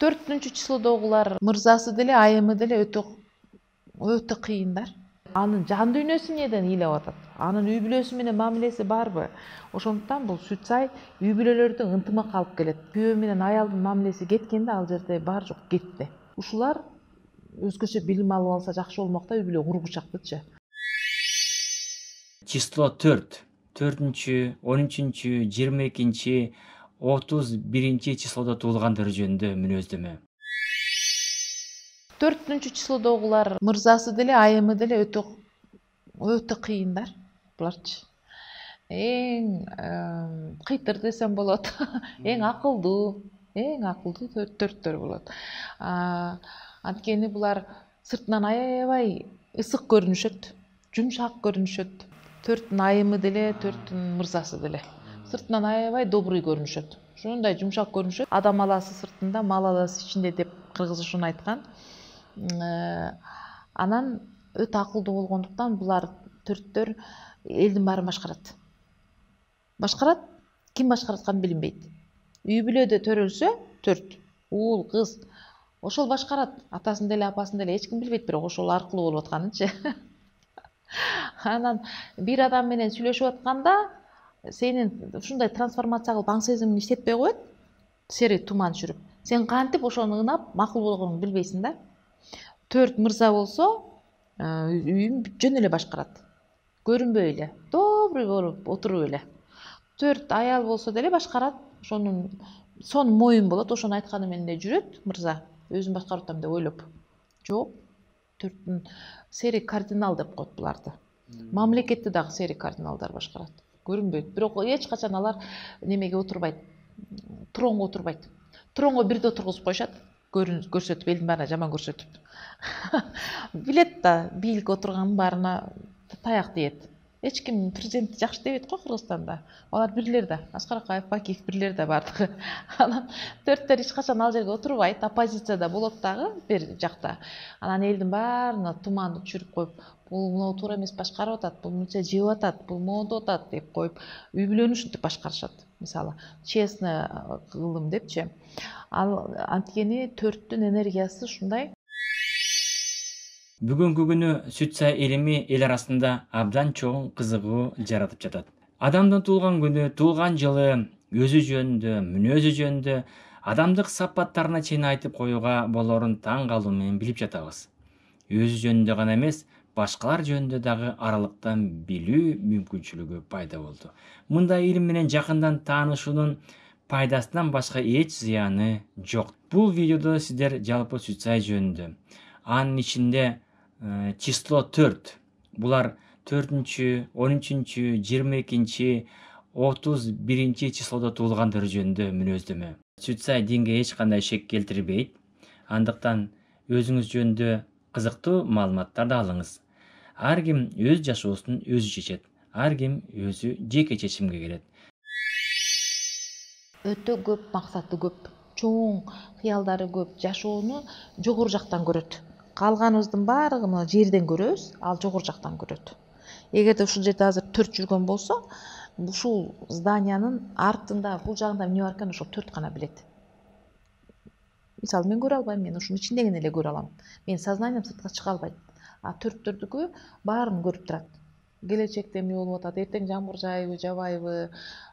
4 числодогулар мырзасы деле айымы деле өтө кыйындар. Анын жан дүйнөсү эмнеден ыйлап атат? Анын үй бүлөсү менен мамилеси барбы? Ошондуктан бул Сүтсай үй бүлөлөрдүн ынтымак алып келет. Күйөө менен аялдын мамилеси кеткенде ал жерде бар жок кетти. Ушулар өзгөчө билим алып алса жакшы болмок да, үй бүлө кургучактычы. Число 4. 4-чү, 13-чү, 22-чи, 31-чи числодо туулгандар жөнүндө мүнөздөмө. 4 числодогулар мырзасы деле айымы деле өтө кыйындар буларчы. Эң кыйтыр десем болот. Эң акылдуу төрттөр болот. Анткени булар сыртынан аябай ысык көрүнүшөт, жумшак көрүнүшөт. 4 айымы деле, 4 мырзасы деле. Сыртынан аябай добрый көрүнүшөт. Ошондой жумшак көрүнүшөт. Адам аласы сыртында, мал аласы ичинде деп кыргыз ушуну айткан. Анан өтө акылдуу болгондуктан булар төрттөр элдин баарын башкарат. Ким башкаратканы билинбейт. Үй бүлөдө төрөлсө 4 уул, кыз ошол башкарат. Атасын деле, апасын деле эч ким билбейт, бирок ошол аркылуу болуп атканынчы. Анан бир адам менен сүйлөшүп атканда сенин ушундай трансформация кылып аң сезимиң иштетпей коет. Сери туман түшүрүп. Сен кантип ошону ынап макул болгонуңду билбейсиң да. 4 мырза болсо үйүн жөн эле башкарат. Көрүнбөй эле, добрый болуп отуруп эле. 4 аял болсо деле башкарат. Сонун моюн болот, ошону айтканы менен эле жүрөт мырза. Өзүн башкарып атам деп ойлоп. Жок. 4 сери кардинал деп коет буларды. Мамлекетти дагы сери кардиналдар башкарат. Көрүнбөйт. Бирок эч качан алар немеге отурбайт. Тронго отурбайт. Тронго бирде отургузуп коюшат. Көрсөтүп, элдин баарына жаман көрсөтүп. Билет да, бийликке отурганын баарына таяк тиет. Эч ким президентти жакшы дебейт го Кыргызстанда. Алар бирлер да, Аскар Акаев, Бакиев бирлер да бардыгы. Анан 4төр эч качан ал жерге отурбайт, оппозицияда болот дагы бир жакта. Анан элдин баарына туманды түшүрүп коюп, бул мынау туура эмес башкарып атат, бул мынча жеп атат, бул моодоп атат деп коюп, үй бүлөнү ушинтип башкарышат. Мисалы, честный кылым депчи. Ал анткени 4түн энергиясы ушундай. Бүгүнкү күнү Сүтсай элими эл арасында абдан чоң кызыгуу жаратып жатат. Адамдын туулган күнү, туулган жылы, өзү жөнүндө, мүнөзү жөнүндө, адамдык сапаттарына чейин айтып коюуга болорун таң калуу менен билип жатабыз. Өзү жөнүндө гана эмес, башкалар жөнүндө дагы аралыктан билүү мүмкүнчүлүгү пайда болду. Мындай илим менен жакындан таанышуунун пайдасынан башка эч зыяны жок. Бул видеодо сиздер жалпы Сүтсай жөнүндө, анын ичинде число 4. Булар 4-чү, 13-чү, 22-чи, 31-чи числодо туулгандар жөнүндө мүнөздөмө. Сүтсай динге эч кандай шек келтирбейт. Андыктан өзүңүз жөнүндө кызыктуу маалыматтарды алыңыз. Ар ким өз жашоосун өзү чечет. Ар ким өзү жеке чечимге келет. Өтө көп максаты көп, чоң кыялдары көп, жашоону жогору жактан көрөт. Калганыбыздын баарыгын жерден көрөбүз, ал жогору жактан көрөт. Эгерде ушул жерде азыр 4 жүргөн болсо, ушул зданиянын артында, бул жагында эмне бар экенин ошол 4 гана билет. Мисалы, мен көрө албайм, мен ушунун ичиндегин эле көрө алам. Менин сознанием сыртка чыга албайт. А 4төрдүкү баарын көрүп турат. Келечекте эмне болуп атат, эртең жамгыр жаайбы, жабайбы,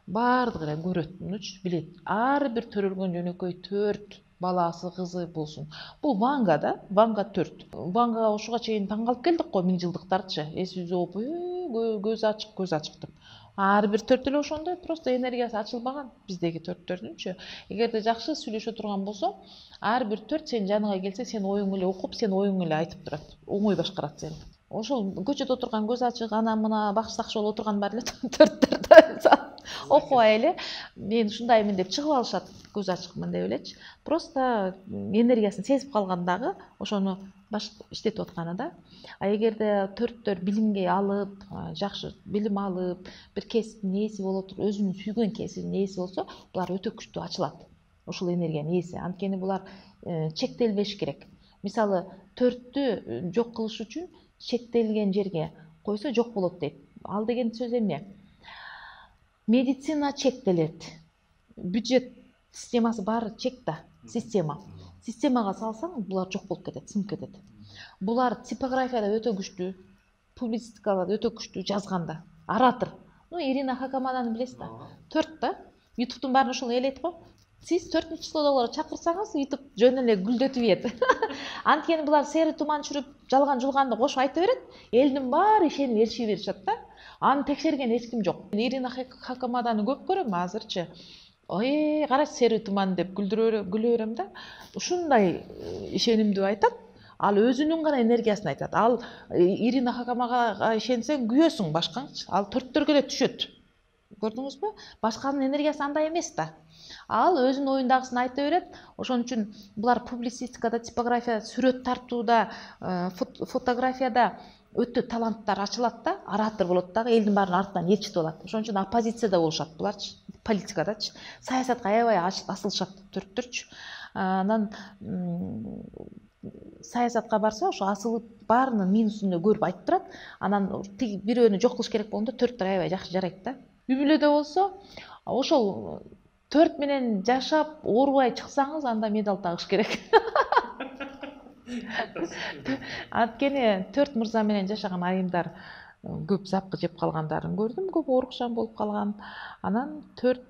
баардыгын эле көрөт, билет. Ар бир төрөлгөн жөнөкөй 4 баласы, кызы болсун. Бул Ванга да, Ванга 4. Вангага ушуга чейин таң калып келдик го, 1000жылдыктарчы. Эсибизде болуп, көз ачык деп. Ар бир 4 эле ошондой, просто энергиясы ачылбаган биздеги 4төрдүнчү. Эгерде жакшы сүйлөшө турган болсо, ар бир 4 сен жаныңа келсе, сен оюңду эле окуп, сен оюңду эле айтып турат. Оңой башкарат сени. Ошол көчөдө отурган көз ачык, ана мына бакчы сакчы болуп отурган бар эле 4төрдө окубай эле мен ушундаймын деп чыгып алышат, көз ачыкмын деп элечи. Просто энергиясын сезип калган дагы ошону иштетип атканы да. А эгерде 4төр билимге алып, жакшы билим алып, бир кесиптин ээси боло туруп, өзүнүн сүйгөн кесибинин ээси болсо, булар өтө күчтүү ачылат. Ушул энергиянын ээси. Анткени булар чектелбеш керек. Мисалы, 4тү жок кылыш үчүн чектелген жерге койсо жок болот дейт. Ал деген сөз эмне? Медицина чектелет. Бюджет системасы баары чек да, система. системага салсаң булар жок болуп кетет, сынып кетет. Булар типографияда өтө күчтүү, публицистикада өтө күчтүү жазганда. Оратор. Ирина Хакамаданы билесиз да? 4 да. YouTube'тун баарын ошол элейт го. Сиз 4 числодогулар чакырсаңыз, YouTube жөн эле гүлдөтүп ийет. Анткени булар сери туман чүрүп, жалган жулганды кошуп айта берет. Элдин баары ишенип ээрчи беришет да. Аны текшерген эч ким жок. Ирина Хакамаданы көп көрөм азырчы. Ой, карачы сери туман деп күлө берем да. Ушундай ишенимдүү айтат. Ал өзүнүн гана энергиясын айтат. Ал Ирина Хакамага ишенсең күйөсүң башкаңчы. Ал 4-төргө эле түшөт. Көрдүңүзбү? Башканын энергиясы андай эмес да. Ал өзүнүн оюндагысын айта берет. Ошон үчүн булар публицистикада, типографияда, сүрөт тартууда, фотографияда өтө таланттар ачылат да, оратор болот дагы, элдин баарын артынан ээрчитип алат. Ошон үчүн оппозицияда болушат буларчы, политикадачы. Саясатка аябай асылышат 4-төрчү. Анан саясатка барса, ошо асылып баарынын минусун көрүп айтып турат. Анан тиги бирөөнү жок кылыш керек болгондо 4 аябай жакшы жарайт да. Үй-бүлөдө болсо, ошол 4 менен жашап, оорубай чыксаңыз, анда медаль тагыш керек. Анткени 4 мырза менен жашаган айымдар көп запкы жеп калгандарын көрдүм, көп оорукшан болуп калган. Анан 4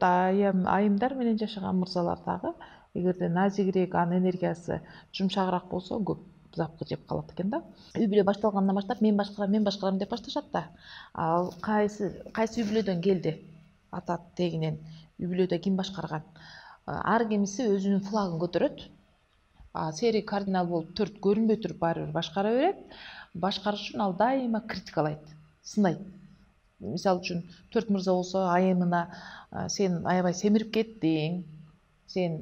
айымдар менен жашаган мырзалар дагы, эгерде назигирээк, анын энергиясы жумшагыраак болсо, көп запкы жеп калат экен да. Үй-бүлө башталгандан баштап мен башкарам деп башташат да. Ал кайсы үй-бүлөдөн келди? Ата тегинен үй-бүлөдө ким башкарган? Ар кимиси өзүнүн флагын көтөрөт. Сери кардинал болуп 4 көрүнбөй туруп баары бир башкара берет. Башкарыш үчүн ал дайыма критикалайт, сынайт. Мисалы үчүн 4 мырза болсо, айымына сен аябай семирип кеттиң, сен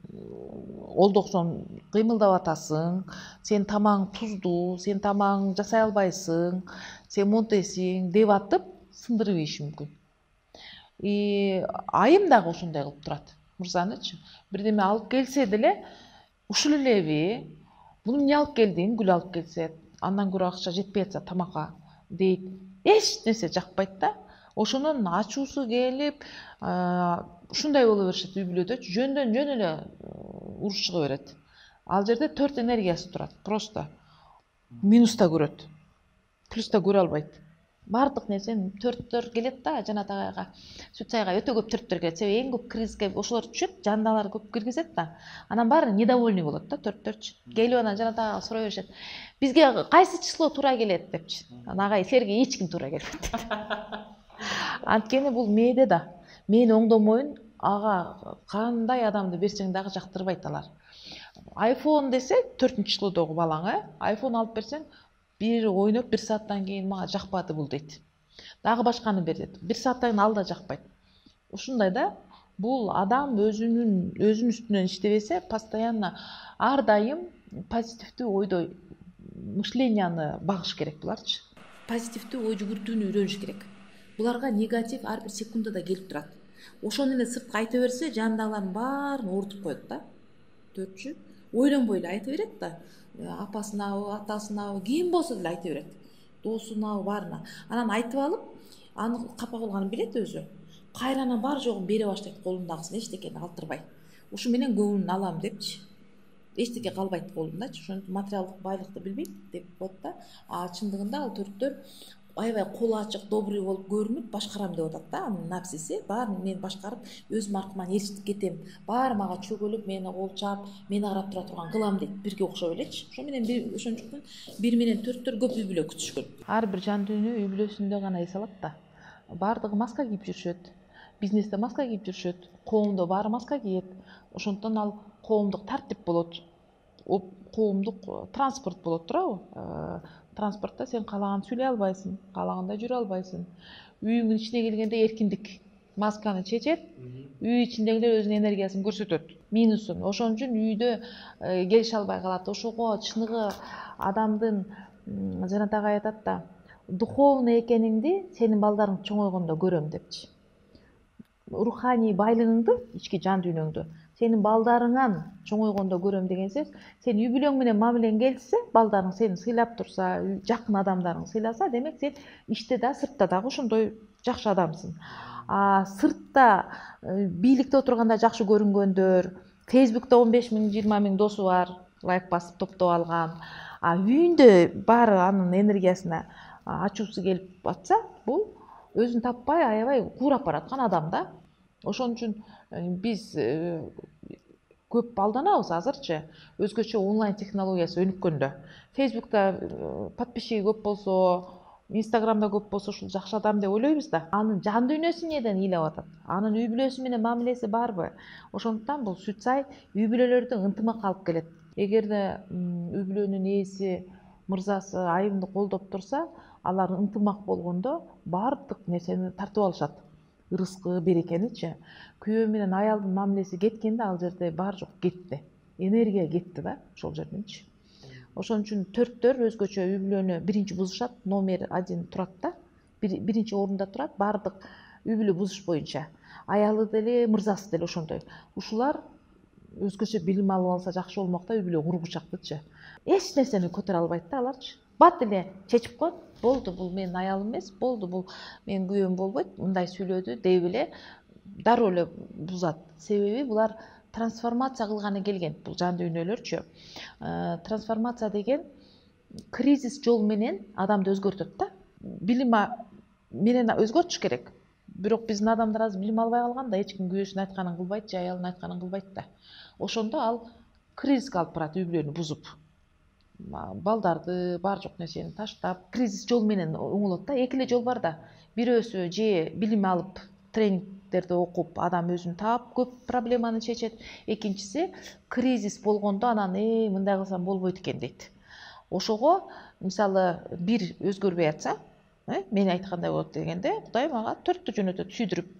олдоксон кыймылдап атасың, сен тамаң туздуу, сен тамаң жасай албайсың, сен монтесиң деп атып сындырып ийиши мүмкүн. Айым дагы ошондой кылып турат, мырзанычы. Бирдеме алып келсе деле, ушул элеби, буну эмне алып келдиң? Гүл алып келсе, андан көрө акча жетпей атса тамакка дейт. Эч нерсе жакпайт да. Ошонун ачуусу келип, ушундай боло беришет үй-бүлөдөчү. Жөндөн жөн эле уруш чыга берет. Ал жерде 4 энергиясы турат. Просто минуста көрөт. Плюста көрө албайт. Бардык нерсени 4 келет да, Жанат агайга, Сүт сайга өтө көп 4 келет. Себеби эң көп кризиске ошолор түшөт, жандалар көп киргизет да. Анан баары недовольный болот да 4. Келип анан Жанат агайга сурай беришет. Бизге кайсы число туура келет депчи. Анан агай силерге эч ким туура келбейт. Анткени бул мээде да. Мен оңдомойн, ага кандай адамды берсең дагы жактырбайт алар. iPhone десе 4 числодогу балаңа, iPhone алып берсең, бир ойноп 1 сааттан кийин мага жакпады бул дейт. Дагы башканы бер дейт. 1 сааттан кийин ал да жакпайт. Ушундай да, бул адам өзүнүн үстүнөн иштебесе, постоянно ар дайым позитивдүү ойдо мышленияны багыш керек буларчы. Позитивдүү ой жүгүртүүнү үйрөнүш керек. Буларга негатив ар бир секундада келип турат. Ошону эле сыртка айта берсе, жанындагылардын баарын оорутуп коет да. 4. Ойлонбой эле айта берет да. Апасынабы, атасынабы, ким болсо деле айта берет. Досунабы, баарына. Анан айтып алып, аны капа кылганын билет өзү. Кайранан бар жогун бере баштайт колундагысын, эчтекени калтырбай. Ушу менен көңүлүн алам депчи. Эчтеке калбайт колундачы. Ошон материалдык байлыкты билбейт деп коет да. Чындыгында ал 4 аябай колу ачык, добрый болуп көрүнүп, башкарам деп атат да. Анын напсиси баарын мен башкарып, өзүм аркыман ээрчитип кетем. Баары мага чөгөлүп, мени колчап, мени карап тура турган кылам дейт. Бирге окшоп элечи. Ошо менен ошончуктан 1 менен 4 көп үй-бүлө күтүшкөн. Ар бир жан дүйнө үй-бүлөсүндө гана эс алат да. Бардыгы маска кийип жүрүшөт. Бизнесте маска кийип жүрүшөт. Коомдо баары маска кийет. Ошондон ал коомдук тартип болот. Коомдук транспорт болот туурабы? Транспортта сен каалаган сүйлөй албайсың, каалагандай жүрө албайсың. Үйүңдүн ичине келгенде эркиндик. Масканы чечет, үй ичиндегилер өзүнүн энергиясын көрсөтөт, минусун. Ошон үчүн үйдө келише албай калат. Ошого чыныгы адамдын, Жанат агай айтат да, духовный экениңди сенин балдарың чоңойгондо көрөм депчи. Руханий байлыгыңды, ички жан дүйнөңдү сенин балдарыңан чоңойгондо көрөм деген сөз. Сен үй-бүлөң менен мамилең келсе, балдарың сени сыйлап турса, жакын адамдарың сыйласа, демек сен иште да, сыртта дагы ошондой жакшы адамсың. Сыртта бийликте отурганда жакшы көрүнгөндөр, Facebook'та 15 000 20 000 досу бар, лайк басып топтоп алган. Үйүндө баары анын энергиясына ачуусу келип атса, бул өзүн таппай, аябай куурап бараткан адам да. Ошон үчүн биз көп алданабыз азырчы. Өзгөчө онлайн технологиясы өнүккөндө. Facebook'та подписчиги көп болсо, Instagram'да көп болсо ушул жакшы адам деп ойлойбуз да. Анын жан дүйнөсү эмнеден ыйлап атат? Анын үй бүлөсү менен мамилеси барбы? Ошондуктан бул сүт сай үй бүлөлөрдү ынтымакка алып келет. Эгерде үй бүлөнүн ээси, мырзасы айымды колдоп турса, алар ынтымак болгондо баардык нерсени тартып алышат. Ырыскы, берекеничи. Күйөө менен аялдын мамилеси кеткенде ал жерде бар жок кетти. Энергия кетти да ошол жерденчи. Ошон үчүн төрттөр өзгөчө үй бүлөнү биринчи бузушат, номер 1 турат да. Биринчи орунда турат баардык үй бүлө бузуш боюнча. Аялы деле, мырзасы деле ошондой. Ушулар өзгөчө билим алып алса жакшы болмок да, үй бүлө кургучакчы. Эч нерсени көтөрө албайт да аларчы. Бат эле чечип коет. Болду, бул менин аялым эмес, болду, бул менин күйөөм болбойт, мындай сүйлөдү деп эле дароо эле бузат. Себеби булар трансформация кылганы келген, бул жан дүйнөлөрчү. Трансформация деген кризис жол менен адамды өзгөртөт да. Билим менен өзгөртүш керек. Бирок биздин адамдар азыр билим албай калган да, эч ким күйөөсүнүн айтканын кылбайт же аялынын айтканын кылбайт да. Ошондо ал кризиске алып барат, үй бүлөнү бузуп. Балдарды, бар жок нерсени таштап, кризис жол менен оңолот да. Эки эле жол бар да. Бирөөсү же билим алып, тренингдерди окуп, адам өзүн таап көп проблеманы чечет. Экинчиси кризис болгондо анан мындай кылсам болбойт экен дейт. Ошого мисалы бир өзгөрбөй атса, мен айткандай болот дегенде, Кудай мага 4тү жөнөтөт сүйдүрүп.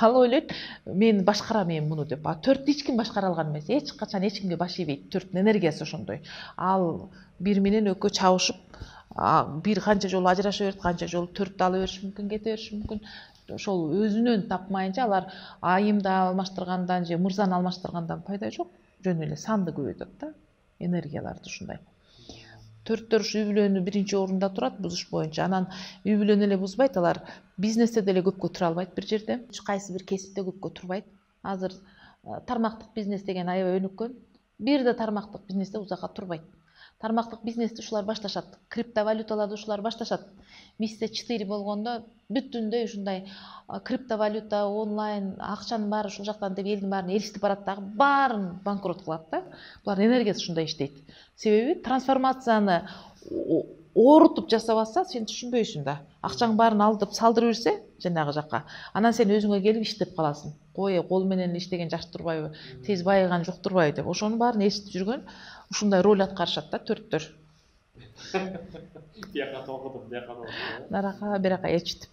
Ал ойлойт, мен башкарам муну деп. 4тү эч ким башкара алган эмес. Эч качан эч кимге баш ийбейт. 4түн энергиясы ошондой. Ал бир менен экөө чабышып, бир канча жолу ажыраша берет, канча жолу 4тү ала бериши мүмкүн, кете бериши мүмкүн. Ошол өзүнөн тапмайынча алар айымды алмаштыргандан же мырзаны алмаштыргандан пайда жок. Жөн эле санды көбөйтөт да, энергияларды ушундай. Төрттөр үй бүлөнү биринчи орунда турат бузуш боюнча. Анан үй бүлөнү эле бузбайт, алар бизнесте деле көпкө тура албайт бир жерде. Кайсы бир кесипте көпкө турбайт. Азыр тармактык бизнес деген аябай өнүккөн. Бир да тармактык бизнесте узакка турбайт. Тармактык бизнести ушулар башташат. Криптовалюталарды ушулар башташат. Мисте 4 болгондо бүтүндөй ушундай криптовалюта, онлайн акчанын баары ушул жактан деп элдин баарын эристип барат дагы, баарын банкрот кылат да. Булардын энергиясы ушундай иштейт. Себеби трансформацияны оорутуп жасап атса, сен түшүнбөйсүң да. Акчаң баарын алдып салдырып берсе, жанагы жакка, анан сен өзүңө келип иштеп каласың. Кол менен иштеген жакшы турбайбы, тез байыган жок турбайбы деп. Ошонун баарын эситип жүргөн ушундай роль аткарышат да төрттөр. Бияка толкутуп, бияка толкутуп. Нарака, бирака ээрчитип.